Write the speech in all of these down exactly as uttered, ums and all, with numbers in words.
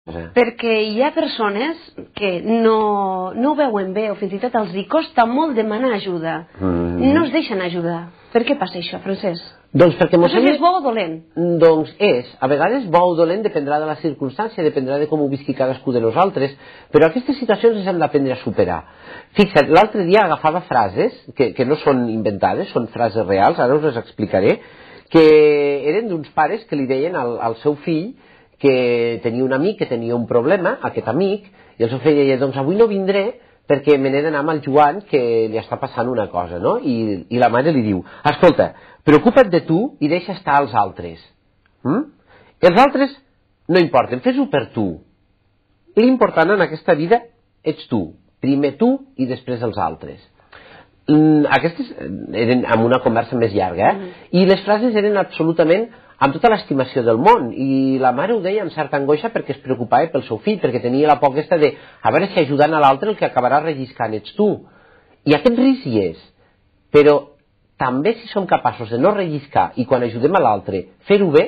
Perquè hi ha persones que no, no ho veuen bé o fins i tot els hi costa molt demanar ajuda. Mm. No es deixen ajudar. Per què passa això, Francesc? Doncs perquè no sé si és bo o dolent. Doncs és, a vegades bo o dolent dependrà de la circumstància, dependrà de com ho visqui cadascú de nosaltres, però aquestes situacions les hem d'aprendre a superar. Fixa't, l'altre dia agafava frases, que, que no són inventades, són frases reals, ara us les explicaré, que eren d'uns pares que li deien al, al seu fill que tenia un amic que tenia un problema, aquest amic, i el seu fill deia, doncs avui no vindré perquè me n'he d'anar amb el Joan que li està passant una cosa, no? I, i la mare li diu, escolta, preocupa't de tu i deixa estar els altres. Mm? Els altres no importen, fes-ho per tu. L'important en aquesta vida ets tu, primer tu i després els altres. Mm, aquestes eren amb una conversa més llarga, eh? Mm. I les frases eren absolutament amb tota l'estimació del món, i la mare ho deia amb certa angoixa perquè es preocupava pel seu fill, perquè tenia la por aquesta de a veure si ajudant a l'altre el que acabarà relliscant ets tu. I aquest risc hi és, però també si som capaços de no relliscar i quan ajudem a l'altre fer-ho bé,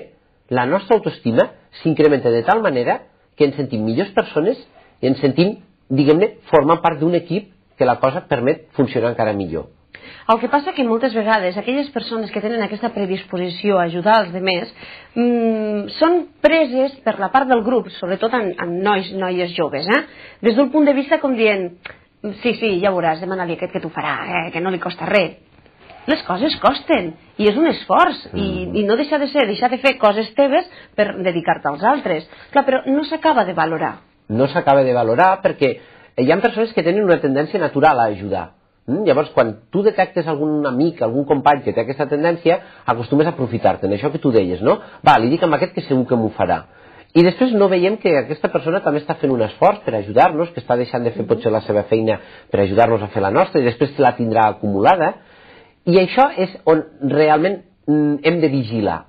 la nostra autoestima s'incrementa de tal manera que ens sentim millors persones i ens sentim, diguem-ne, formant part d'un equip que la cosa permet funcionar encara millor. El que passa que moltes vegades aquelles persones que tenen aquesta predisposició a ajudar els altres mmm, són preses per la part del grup, sobretot en, en nois, noies joves, eh? Des d'un punt de vista com dient, sí, sí, ja veuràs, demana-li aquest que t'ho farà, eh? Que no li costa res. Les coses costen, i és un esforç, mm. i, i no deixa de ser, deixar de fer coses teves per dedicar-te als altres. Clar, però no s'acaba de valorar. No s'acaba de valorar perquè hi ha persones que tenen una tendència natural a ajudar. Mm? Llavors, quan tu detectes algun amic, algun company que té aquesta tendència, acostumes a aprofitar-te'n, això que tu deies, no? Va, li dic amb aquest que segur que m'ho farà. I després no veiem que aquesta persona també està fent un esforç per ajudar-nos, que està deixant de fer potser la seva feina per ajudar-nos a fer la nostra, i després la tindrà acumulada. I això és on realment hem de vigilar,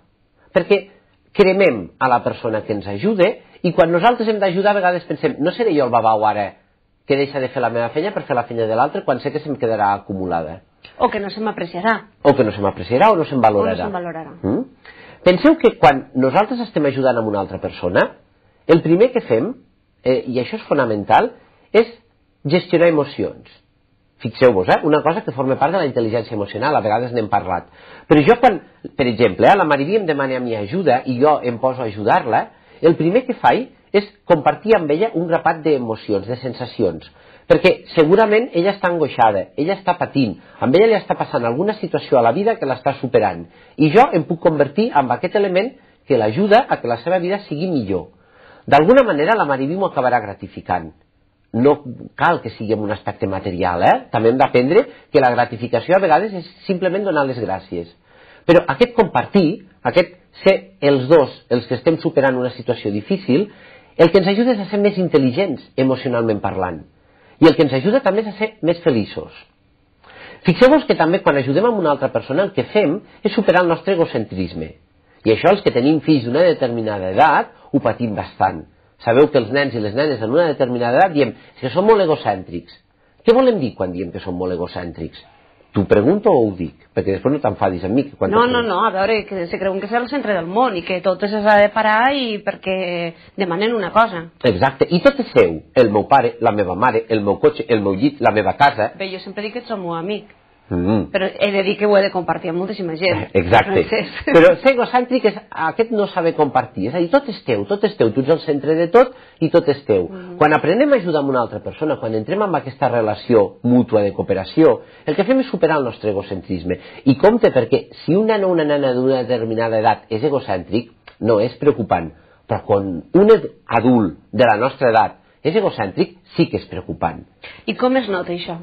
perquè cremem a la persona que ens ajuda, i quan nosaltres hem d'ajudar a vegades pensem, no seré jo el babau ara que deixa de fer la meva feina per fer la feina de l'altre quan sé que se'm quedarà acumulada. O que no se m'apreciarà. O que no se m'apreciarà o no se'm valorarà. O no se'm valorarà. Mm? Penseu que quan nosaltres estem ajudant a una altra persona, el primer que fem, eh, i això és fonamental, és gestionar emocions. Fixeu-vos, eh? Una cosa que forma part de la intel·ligència emocional, a vegades n'hem parlat. Però jo quan, per exemple, eh, la Mariví em demana a mi ajuda i jo em poso a ajudar-la, el primer que faig és compartir amb ella un grapat d'emocions, de sensacions, perquè segurament ella està angoixada, ella està patint, amb ella li està passant alguna situació a la vida que l'està superant, i jo em puc convertir en aquest element que l'ajuda a que la seva vida sigui millor. D'alguna manera la Mariví m'ho acabarà gratificant. No cal que sigui en un aspecte material, eh? També hem d'aprendre que la gratificació a vegades és simplement donar les gràcies. Però aquest compartir, aquest ser els dos els que estem superant una situació difícil, el que ens ajuda és a ser més intel·ligents emocionalment parlant, i el que ens ajuda també és a ser més feliços. Fixeu-vos que també quan ajudem a una altra persona el que fem és superar el nostre egocentrisme, i això els que tenim fills d'una determinada edat ho patim bastant. Sabeu que els nens i les nenes en una determinada edat diem que són molt egocèntrics. Què volem dir quan diem que són molt egocèntrics? T'ho pregunto o ho dic? Perquè després no t'enfadis amb mi. No, no, no, a veure, que se creuen que és el centre del món i que tot s'ha de parar i perquè demanen una cosa. Exacte, i tot és seu. El meu pare, la meva mare, el meu cotxe, el meu llit, la meva casa. Bé, jo sempre dic que ets el meu amic. Mm. Però he de dir que ho he de compartir amb moltíssima gent. Exacte. Però ser egocèntric és aquest no saber compartir. És a dir, tot és teu, tot és teu. Tu ets el centre de tot i tot és teu. Mm. Quan aprenem a ajudar una altra persona, quan entrem en aquesta relació mútua de cooperació, el que fem és superar el nostre egocentrisme. I compte, perquè si un nen o una nena d'una determinada edat és egocèntric, no és preocupant. Però quan un adult de la nostra edat és egocèntric, sí que és preocupant. I com es nota això?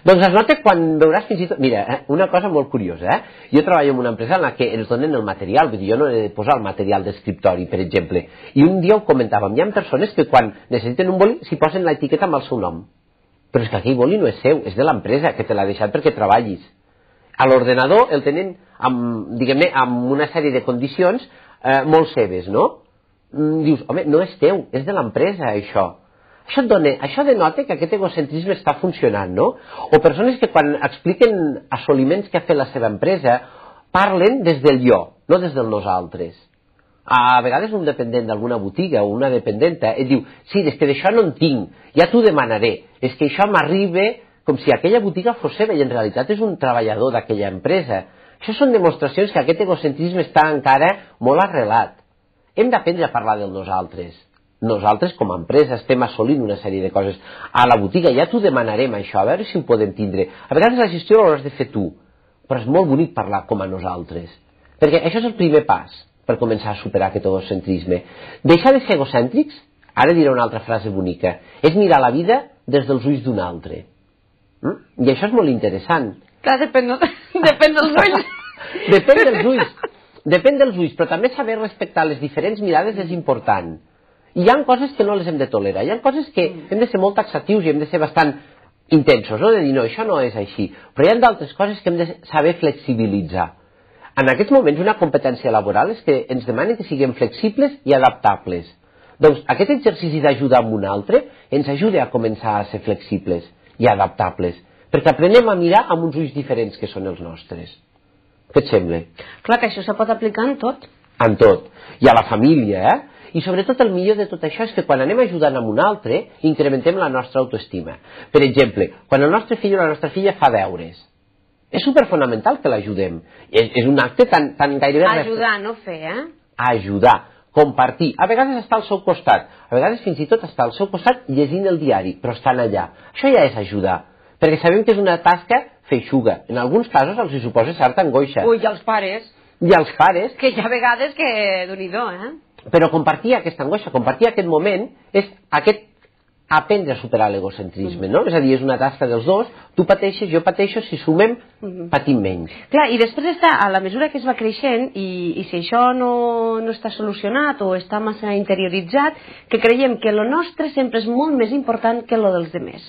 Doncs es nota quan veuràs fins i tot... Mira, eh, una cosa molt curiosa, eh? Jo treballo en una empresa en la que ens donen el material, vull dir, jo no he de posar el material d'escriptori, per exemple, i un dia ho comentàvem, hi ha persones que quan necessiten un boli s'hi posen l'etiqueta amb el seu nom, però és que aquell boli no és seu, és de l'empresa, que te l'ha deixat perquè treballis. A l'ordenador el tenen, amb, diguem-ne, amb una sèrie de condicions eh, molt seves, no? Mm, dius, home, no és teu, és de l'empresa, això. Això, dona, això denota que aquest egocentrisme està funcionant, no? O persones que quan expliquen assoliments que ha fet la seva empresa parlen des del jo, no des del nosaltres. A vegades un dependent d'alguna botiga o una dependenta et diu, sí, és que d'això no en tinc, ja t'ho demanaré, és que això m'arriba com si aquella botiga fos seva i en realitat és un treballador d'aquella empresa. Això són demostracions que aquest egocentrisme està encara molt arrelat. Hem d'aprendre a parlar del nosaltres. Nosaltres com a empresa estem assolint una sèrie de coses. A la botiga ja t'ho demanarem això, a veure si ho podem tindre. A vegades la gestió l'hauràs de fer tu, però és molt bonic parlar com a nosaltres. Perquè això és el primer pas per començar a superar aquest egocentrisme. Deixar de ser egocèntrics, ara diré una altra frase bonica, és mirar la vida des dels ulls d'un altre. Mm? I això és molt interessant. Clar, depèn, depèn dels ulls. Depèn dels ulls. Depèn dels ulls, però també saber respectar les diferents mirades és important. I hi ha coses que no les hem de tolerar, hi ha coses que hem de ser molt taxatius i hem de ser bastant intensos, no? De dir, no, això no és així. Però hi ha d'altres coses que hem de saber flexibilitzar. En aquests moments una competència laboral és que ens demanen que siguem flexibles i adaptables. Doncs aquest exercici d'ajudar amb un altre ens ajuda a començar a ser flexibles i adaptables, perquè aprenem a mirar amb uns ulls diferents que són els nostres. Què et sembla? Clar que això se pot aplicar en tot. En tot. I a la família, eh? I sobretot el millor de tot això és que quan anem ajudant amb un altre, incrementem la nostra autoestima. Per exemple, quan el nostre fill o la nostra filla fa deures, és superfonamental que l'ajudem. És, és un acte tan, tan gairebé... Ajudar, no fer, eh? Ajudar, compartir. A vegades està al seu costat, a vegades fins i tot està al seu costat llegint el diari, però estan allà. Això ja és ajudar, perquè sabem que és una tasca feixuga. En alguns casos els hi suposa certa angoixa. Ui, i els pares. I els pares. Que hi ha vegades que... Déu-n'hi-do, eh? Però compartir aquesta angoixa, compartir aquest moment, és aquest aprendre a superar l'egocentrisme, no? És a dir, és una tasca dels dos, tu pateixes, jo pateixo, si sumem, patim menys. Clar, i després està, a la mesura que es va creixent, i, i si això no, no està solucionat o està massa interioritzat, que creiem que lo nostre sempre és molt més important que lo dels demés.